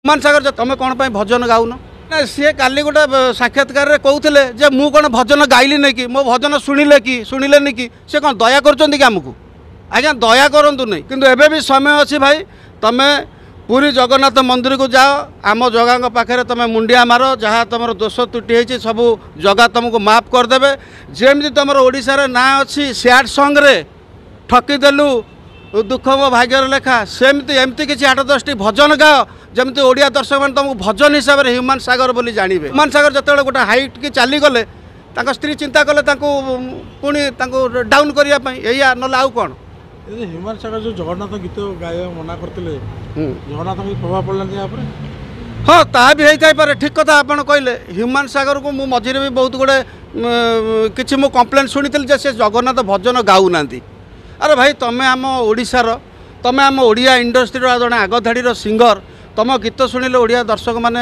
ହ୍ୟୁମାନ ସାଗର, ତମେ କ'ଣ ପାଇଁ ଭଜନ ଗାଉନ? ନା, ସିଏ କାଲି ଗୋଟେ ସାକ୍ଷାତକାରରେ କହୁଥିଲେ ଯେ ମୁଁ କ'ଣ ଭଜନ ଗାଇଲି ନାଇଁ କି, ମୋ ଭଜନ ଶୁଣିଲେ କି ଶୁଣିଲେନି କି? ସେ କ'ଣ ଦୟା କରୁଛନ୍ତି କି ଆମକୁ? ଆଜ୍ଞା, ଦୟା କରନ୍ତୁ ନାହିଁ, କିନ୍ତୁ ଏବେ ବି ସମୟ ଅଛି ଭାଇ। ତମେ ପୁରୀ ଜଗନ୍ନାଥ ମନ୍ଦିରକୁ ଯାଅ, ଆମ ଜଗାଙ୍କ ପାଖରେ ତମେ ମୁଣ୍ଡିଆ ମାର, ଯାହା ତମର ଦୋଷ ତ୍ରୁଟି ହେଇଛି ସବୁ ଜଗା ତମକୁ ମାଫ କରିଦେବେ। ଯେମିତି ତମର ଓଡ଼ିଶାରେ ନାଁ ଅଛି ସ୍ୟାଡ଼ ସଙ୍ଗରେ ଠକିଦେଲୁ ଦୁଃଖ ମୋ ଭାଗ୍ୟରେ ଲେଖା, ସେମିତି ଏମିତି କିଛି 8 10ଟି ଭଜନ ଗାଅ, ଯେମିତି ଓଡ଼ିଆ ଦର୍ଶକମାନେ ତୁମକୁ ଭଜନ ହିସାବରେ ହ୍ୟୁମାନ ସାଗର ବୋଲି ଜାଣିବେ। ହ୍ୟୁମାନ ସାଗର ଯେତେବେଳେ ଗୋଟେ ହାଇଟ୍ କି ଚାଲିଗଲେ, ତାଙ୍କ ସ୍ତ୍ରୀ ଚିନ୍ତା କଲେ ତାଙ୍କୁ ପୁଣି ତାଙ୍କୁ ଡାଉନ୍ କରିବା ପାଇଁ, ଏଇଆ, ନହେଲେ ଆଉ କ'ଣ? ହ୍ୟୁମାନ ସାଗର ଯେଉଁ ଜଗନ୍ନାଥ ଗୀତ ଗାଇବା ମନା କରିଥିଲେ, ଜଗନ୍ନାଥଙ୍କ ପ୍ରଭାବ ପଡ଼ିଲାନି ୟା ଉପରେ? ହଁ, ତାହା ବି ହେଇଥାଇପାରେ, ଠିକ୍ କଥା ଆପଣ କହିଲେ। ହ୍ୟୁମାନ ସାଗରକୁ ମୁଁ ମଝିରେ ବି ବହୁତ ଗୁଡ଼େ କିଛି ମୁଁ କମ୍ପ୍ଲେନ୍ ଶୁଣିଥିଲି ଯେ ସେ ଜଗନ୍ନାଥ ଭଜନ ଗାଉନାହାନ୍ତି। ଆରେ ଭାଇ, ତମେ ଆମ ଓଡ଼ିଶାର, ତମେ ଆମ ଓଡ଼ିଆ ଇଣ୍ଡଷ୍ଟ୍ରିର ଜଣେ ଆଗଧାଡ଼ିର ସିଙ୍ଗର, ତମ ଗୀତ ଶୁଣିଲେ ଓଡ଼ିଆ ଦର୍ଶକମାନେ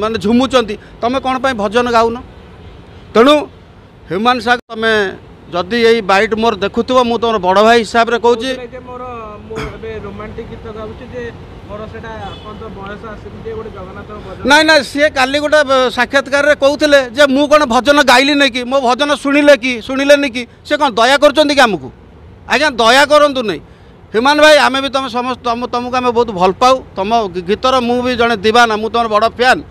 ମାନେ ଝୁମୁଛନ୍ତି, ତମେ କ'ଣ ପାଇଁ ଭଜନ ଗାଉନ? ତେଣୁ ହ୍ୟୁମାନ ସାଗର, ତମେ ଯଦି ଏଇ ବାଇଟ୍ ମୋର ଦେଖୁଥିବ, ମୁଁ ତୁମର ବଡ଼ ଭାଇ ହିସାବରେ କହୁଛି। ମୋର ମୁଁ ଏବେ ରୋମାଣ୍ଟିକ୍ ଗୀତ ଗାଉଛି ଯେ ମୋର ସେଇଟା ବୟସ ଆସିନି ଯେ ଗୋଟେ ଜଗନ୍ନାଥ। ନାଇଁ ନାଇଁ, ସିଏ କାଲି ଗୋଟେ ସାକ୍ଷାତକାରରେ କହୁଥିଲେ ଯେ ମୁଁ କ'ଣ ଭଜନ ଗାଇଲି ନାଇଁ କି, ମୋ ଭଜନ ଶୁଣିଲେ କି ଶୁଣିଲେନି କି? ସେ କ'ଣ ଦୟା କରୁଛନ୍ତି କି ଆମକୁ? ଆଜ୍ଞା, ଦୟା କରନ୍ତୁ ନାହିଁ। ହ୍ୟୁମାନ ଭାଇ, ଆମେ ବି ତୁମେ ସମସ୍ତ ତୁମକୁ ଆମେ ବହୁତ ଭଲ ପାଉ, ତୁମ ଗୀତର ମୁଁ ବି ଜଣେ ଦିବାନା, ମୁଁ ତୁମର ବଡ଼ ଫ୍ୟାନ୍।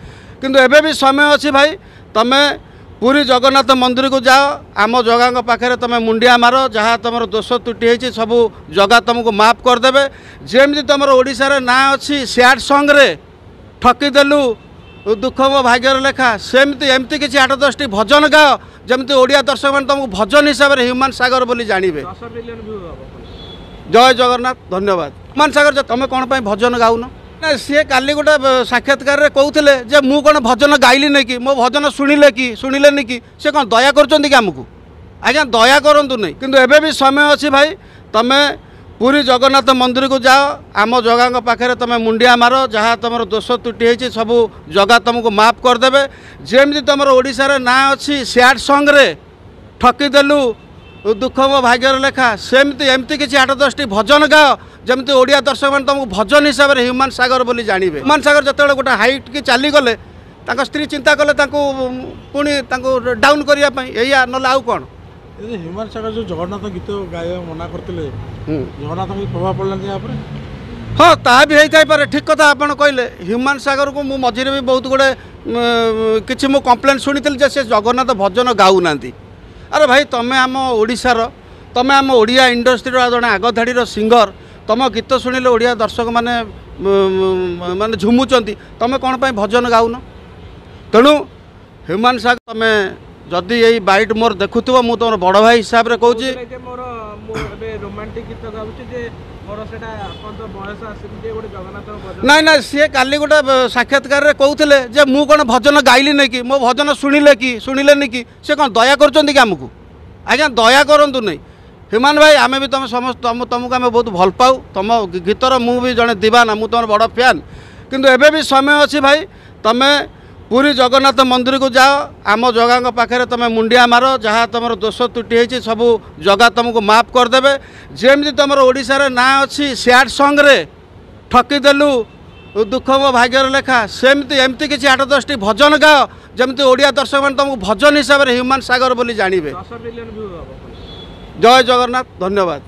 କିନ୍ତୁ ଏବେ ବି ସମୟ ଅଛି ଭାଇ। ତମେ ପୁରୀ ଜଗନ୍ନାଥ ମନ୍ଦିରକୁ ଯାଅ, ଆମ ଜଗାଙ୍କ ପାଖରେ ତମେ ମୁଣ୍ଡିଆ ମାର, ଯାହା ତମର ଦୋଷ ତ୍ରୁଟି ହେଇଛି ସବୁ ଜଗା ତମକୁ ମାଫ କରିଦେବେ। ଯେମିତି ତମର ଓଡ଼ିଶାରେ ନାଁ ଅଛି ସ୍ୟାଡ଼ ସଙ୍ଗରେ ଠକିଦେଲୁ ଦୁଃଖ ମୋ ଭାଗ୍ୟରେ ଲେଖା, ସେମିତି ଏମିତି କିଛି 8 10ଟି ଭଜନ ଗାଅ, ଯେମିତି ଓଡ଼ିଆ ଦର୍ଶକମାନେ ତୁମକୁ ଭଜନ ହିସାବରେ ହ୍ୟୁମାନ ସାଗର ବୋଲି ଜାଣିବେ। 10 ମିଲିୟନ ଭ୍ୟୁ ହବ। ଜୟ ଜଗନ୍ନାଥ, ଧନ୍ୟବାଦ। ହ୍ୟୁମାନ ସାଗର, ତମେ କ'ଣ ପାଇଁ ଭଜନ ଗାଉନ? ନା, ସିଏ କାଲି ଗୋଟେ ସାକ୍ଷାତକାରରେ କହୁଥିଲେ ଯେ ମୁଁ କ'ଣ ଭଜନ ଗାଇଲି ନାଇଁ କି, ମୋ ଭଜନ ଶୁଣିଲେ କି ଶୁଣିଲେନି କି? ସେ କ'ଣ ଦୟା କରୁଛନ୍ତି କି ଆମକୁ? ଆଜ୍ଞା, ଦୟା କରନ୍ତୁ ନାହିଁ, କିନ୍ତୁ ଏବେ ବି ସମୟ ଅଛି ଭାଇ। ତମେ ପୁରୀ ଜଗନ୍ନାଥ ମନ୍ଦିରକୁ ଯାଅ, ଆମ ଜଗାଙ୍କ ପାଖରେ ତମେ ମୁଣ୍ଡିଆ ମାର, ଯାହା ତମର ଦୋଷ ତ୍ରୁଟି ହେଇଛି ସବୁ ଜଗା ତମକୁ ମାଫ କରିଦେବେ। ଯେମିତି ତମର ଓଡ଼ିଶାରେ ନାଁ ଅଛି ସ୍ୟାଡ଼ ସଙ୍ଗରେ ଠକିଦେଲୁ ଦୁଃଖ ମୋ ଭାଗ୍ୟରେ ଲେଖା, ସେମିତି ଏମିତି କିଛି 8 10ଟି ଭଜନ ଗାଅ, ଯେମିତି ଓଡ଼ିଆ ଦର୍ଶକମାନେ ତୁମକୁ ଭଜନ ହିସାବରେ ହ୍ୟୁମାନ ସାଗର ବୋଲି ଜାଣିବେ। ହ୍ୟୁମାନ ସାଗର ଯେତେବେଳେ ଗୋଟେ ହାଇଟ୍ କି ଚାଲିଗଲେ, ତାଙ୍କ ସ୍ତ୍ରୀ ଚିନ୍ତା କଲେ ତାଙ୍କୁ ପୁଣି ତାଙ୍କୁ ଡାଉନ୍ କରିବା ପାଇଁ, ଏଇଆ, ନହେଲେ ଆଉ କ'ଣ? ହ୍ୟୁମାନ ସାଗର ଯେଉଁ ଜଗନ୍ନାଥ ଗୀତ ଗାଇବା ମନା କରିଥିଲେ, ଜଗନ୍ନାଥଙ୍କ ପ୍ରଭାବ ପଡ଼ିଲାନି ୟା ଉପରେ? ହଁ, ତାହା ବି ହେଇଥାଇପାରେ, ଠିକ୍ କଥା ଆପଣ କହିଲେ। ହ୍ୟୁମାନ ସାଗରକୁ ମୁଁ ମଝିରେ ବି ବହୁତ ଗୁଡ଼େ କିଛି ମୁଁ କମ୍ପ୍ଲେନ୍ ଶୁଣିଥିଲି ଯେ ସେ ଜଗନ୍ନାଥ ଭଜନ ଗାଉନାହାନ୍ତି। ଆରେ ଭାଇ, ତମେ ଆମ ଓଡ଼ିଶାର, ତମେ ଆମ ଓଡ଼ିଆ ଇଣ୍ଡଷ୍ଟ୍ରିର ଜଣେ ଆଗଧାଡ଼ିର ସିଙ୍ଗର, ତମ ଗୀତ ଶୁଣିଲେ ଓଡ଼ିଆ ଦର୍ଶକମାନେ ମାନେ ଝୁମୁଛନ୍ତି, ତମେ କ'ଣ ପାଇଁ ଭଜନ ଗାଉନ? ତେଣୁ ହ୍ୟୁମାନ ସାଗର, ତମେ ଯଦି ଏଇ ବାଇଟ୍ ମୋର ଦେଖୁଥିବ, ମୁଁ ତୁମର ବଡ଼ ଭାଇ ହିସାବରେ କହୁଛି। ମୋର ମୁଁ ଏବେ ରୋମାଣ୍ଟିକ୍ ଗୀତ ଗାଉଛି ଯେ ମୋର ସେଇଟା ବୟସ ଆସିନି ଯେ ଗୋଟେ ଜଗନ୍ନାଥ। ନାଇଁ ନାଇଁ, ସିଏ କାଲି ଗୋଟେ ସାକ୍ଷାତକାରରେ କହୁଥିଲେ ଯେ ମୁଁ କ'ଣ ଭଜନ ଗାଇଲି ନାଇଁ କି, ମୋ ଭଜନ ଶୁଣିଲେ କି ଶୁଣିଲେନି କି? ସେ କ'ଣ ଦୟା କରୁଛନ୍ତି କି ଆମକୁ? ଆଜ୍ଞା, ଦୟା କରନ୍ତୁ ନାହିଁ। ହ୍ୟୁମାନ ଭାଇ, ଆମେ ବି ତୁମେ ସମସ୍ତ ତୁମକୁ ଆମେ ବହୁତ ଭଲ ପାଉ, ତୁମ ଗୀତର ମୁଁ ବି ଜଣେ ଦିବାନା, ମୁଁ ତୁମର ବଡ଼ ଫ୍ୟାନ୍। କିନ୍ତୁ ଏବେ ବି ସମୟ ଅଛି ଭାଇ। ତମେ ପୁରୀ ଜଗନ୍ନାଥ ମନ୍ଦିରକୁ ଯାଅ, ଆମ ଜଗାଙ୍କ ପାଖରେ ତମେ ମୁଣ୍ଡିଆ ମାର, ଯାହା ତମର ଦୋଷ ତ୍ରୁଟି ହେଇଛି ସବୁ ଜଗା ତମକୁ ମାଫ କରିଦେବେ। ଯେମିତି ତମର ଓଡ଼ିଶାରେ ନାଁ ଅଛି ସ୍ୟାଡ଼ ସଙ୍ଗରେ ଠକିଦେଲୁ ଦୁଃଖ ମୋ ଭାଗ୍ୟରେ ଲେଖା, ସେମିତି ଏମିତି କିଛି 8 10ଟି ଭଜନ ଗାଅ, ଯେମିତି ଓଡ଼ିଆ ଦର୍ଶକମାନେ ତୁମକୁ ଭଜନ ହିସାବରେ ହ୍ୟୁମାନ ସାଗର ବୋଲି ଜାଣିବେ। 10 ମିଲିୟନ ଭ୍ୟୁ ହବ। ଜୟ ଜଗନ୍ନାଥ, ଧନ୍ୟବାଦ।